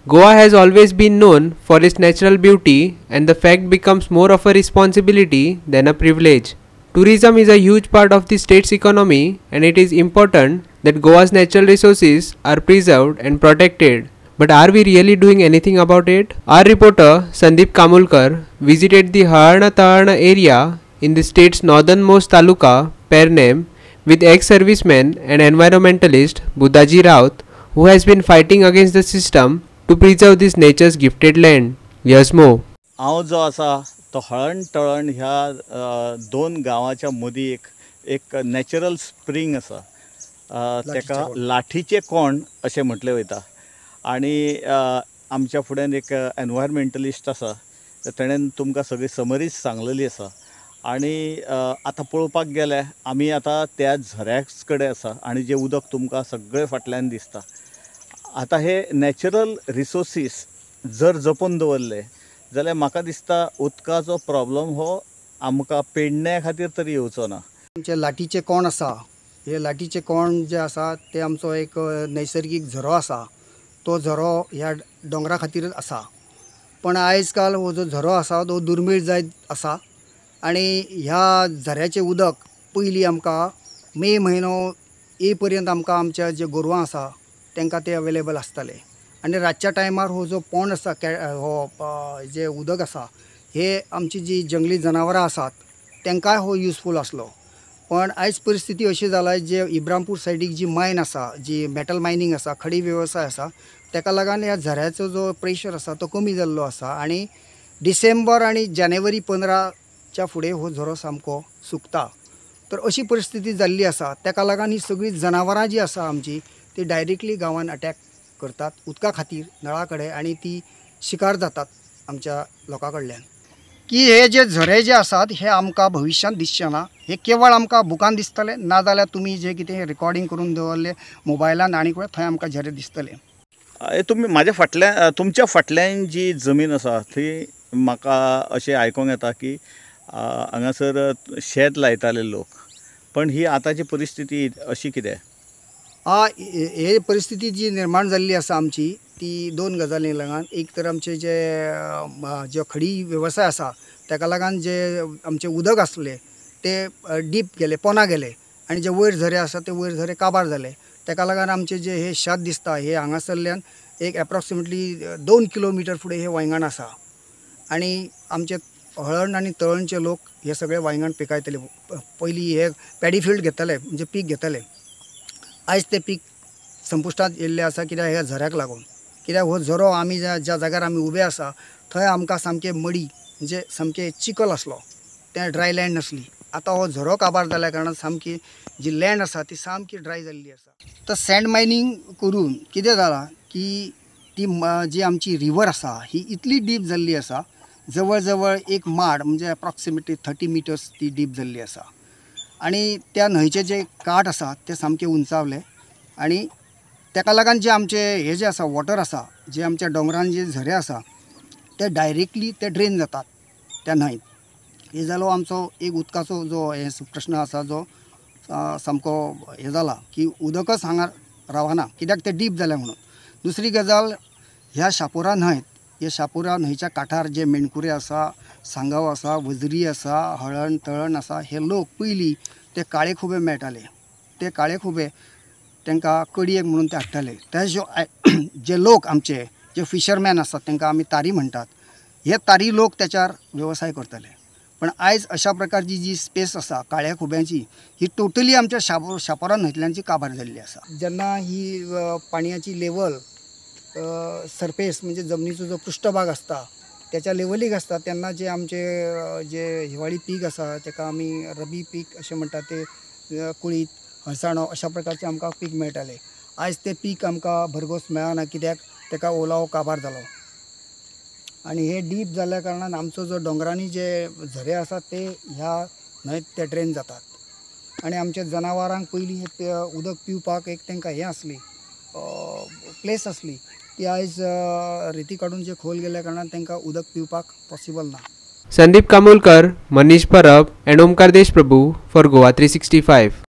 Goa has always been known for its natural beauty, and the fact becomes more of a responsibility than a privilege. Tourism is a huge part of the state's economy, and it is important that Goa's natural resources are preserved and protected. But are we really doing anything about it? Our reporter Sandeep Kamulkar visited the Halarna Talarna area in the state's northernmost taluka, Pernem, with ex-serviceman and environmentalist Buddhaji Raut, who has been fighting against the system to preserve this nature's gifted land. Here's more. हांव जो आसा तो हळण तळण ह्या दोन गांवाच्या मदीं एक एक natural spring आसा, ताका लाठीचें कोंड अशें म्हटलें वयता. आनी आमच्या फुड्यान एक एनवायरमेंटलिस्ट आसा, तेणेन तुमकां सगळी समरीज सांगलेली आसा. आनी आतां पळोवपाक गेल्यार आमी आतां त्या झऱ्या कडेन आसा आनी जें उदक तुमकां सगळें फाटल्यान दिसता. आतां हे नॅचरल रिसोर्सीस जर जपून दवरले जाल्यार म्हाका दिसता उदकाचो प्रॉब्लम हो आमकां पेडण्या खातीर तरी येवचो ना. आमचे लाठीचे कोंड आसा, हे लाठीचे कोंड जे आसा ते आमचो एक नैसर्गीक झरो आसा. तो झरो ह्या दोंगरा खातीरच आसा, पण आयज काल हो जो झरो आसा तो दुर्मीळ जायत आसा. आनी ह्या झऱ्याचें उदक पयलीं आमकां मे म्हयनो ये पर्यंत आमकां आमच्या जे गोरवां आसा तांकां ते अवेलेबल आसताले. आनी रातच्या टायमार हो जो पोंड आसा, हो जे उदक आसा, हे आमची जी जंगली जनावरां आसात तांकांय हो युजफूल आसलो. पण आयज परिस्थिती अशी जाला, जे इब्रामपूर सायडीक जी मायन आसा, जी मेटल मायनींग आसा, खडी वेवसाय आसा, ताका लागून ह्या झऱ्याचो जो प्रेशर आसा तो कमी जाल्लो आसा. आनी डिसेंबर आनी जानेवारी 15च्या फुडें हो झरो सामको सुकता. तर अशी परिस्थिती जाल्ली आसा. ताका लागून ही सगळीं जनावरां जी आसा आमची ती डायरेक्टली गांवान अटॅक करतात उदका खातीर नळा कडेन, आनी ती शिकार जातात आमच्या लोकां कडल्यान. की हे जे झरे जे आसात हे आमकां भविश्यांत दिसचे ना, हे केवळ आमकां बुकान दिसतले, ना जाल्यार तुमी जे कितें रिकॉर्डिंग करून दवरले मोबायलान आनी थंय आमकां झरे दिसतले. तुमी म्हाज्या फाटल्यान, तुमच्या फाटल्यान जी जमीन आसा ती म्हाका अशें आयकूंक येता की हांगासर शेत लायताले लोक, पण ही आतांची परिस्थिती अशी कितें? हे परिस्थिती जी निर्माण जाल्ली आसा आमची ती दोन गजालींक लागून. एक तर आमचे जे जे खडी वेवसाय आसा ताका लागून जे आमचें उदक आसलें ते डीप गेले, पोना गेले, आनी जे वयर झरे आसा ते वयर झरे काबार जाले. ताका लागून आमचे जे हे शेत दिसता हे हांगासरल्यान एक एप्रॉक्सिमेटली 2 किलोमिटर फुडें हे वायंगण आसा. आनी आमचे हळण आनी तळणचे लोक हे सगळे वायंगण पिकायतले. पयलीं हे पॅडी फिल्ड घेताले, म्हणजे पीक घेताले. आयज ते पीक संपुश्टांत येयल्लें आसा कित्याक ह्या झऱ्याक लागून. कित्याक हो झरो आमी ज्या ज्या जाग्यार आमी उबे आसा थंय आमकां सामकें मडी म्हणजे सामकें चिखल आसलो, तें ड्राय लँड नासली. आतां हो झरो काबार जाल्या कारणान सामकी जी लँड आसा ती सामकी ड्राय जाल्ली आसा. तर सँड मायनींग करून कितें जालां की ती जी आमची रिवर आसा ही इतली डीप जाल्ली आसा, जवळ जवळ एक माड म्हणजे एप्रॉक्सिमेटली 30 मिटर्स ती डीप जाल्ली आसा. आनी त्या न्हंयचे जे काठ आसा ते सामके उंचावले, आनी ताका लागून जे आमचे हे जे आसा वॉटर आसा, जे आमच्या दोंगरान जे झरे आसा ते डायरेक्टली ते ड्रेन जातात त्या न्हंयत. हे जालो आमचो एक उदकाचो जो हे प्रश्न आसा जो सामको हे जाला की उदकच हांगा रावना कित्याक ते डीप जालें म्हणून. दुसरी गजाल, ह्या शापोरा न्हंयत, ह्या शापोरा न्हंयच्या काठार जे मेणकुरे आसा, सांगाव आसा, वजरी आसा, हळण तळण आसा, हे लोक पयलीं ते काळे खुबे मेळटाले. ते काळे खुबे तांकां कडयेक म्हणून ते हाडटाले. ते जे लोक आमचे जे फिशरमॅन आसात तांकां आमी तारी म्हणटात, हे तारी लोक त्याच्यार वेवसाय करताले. पण आयज अशा प्रकारची जी स्पेस आसा काळ्या खुब्यांची ही टोटली आमच्या शापोरा न्हंयतल्यानची काबार जाल्ली आसा. जेन्ना ही पाणयाची लेवल सरफेस म्हणजे जमनीचो जो पृष्ठभाग आसता त्याच्या लेवलीक आसता तेन्ना जे आमचे जे हिवाळी पीक आसा ताका आमी रबी पीक अशें म्हणटात, ते कुळीत, हळसाणो अशा प्रकारचे आमकां पीक मेळटाले. आयज ते पीक आमकां भरघोस मेळना कित्याक ताका ओलावो काबार जालो. आनी हे डीप जाल्ल्या कारणान आमचो जो दोंगरांनी जे झरे आसात ते ह्या न्हंयत ते ड्रेन जातात. आनी आमच्या जनावरांक पयलीं हे उदक पिवपाक एक तांकां हें आसली प्लेस आसली, ती आयज रेती काडून जे खोल गेल्या कारणान तांकां उदक पिवपाक पॉसिबल ना. Sandeep Kamulkar, Manish Parab and Omkar Deshprabhu for Goa 365.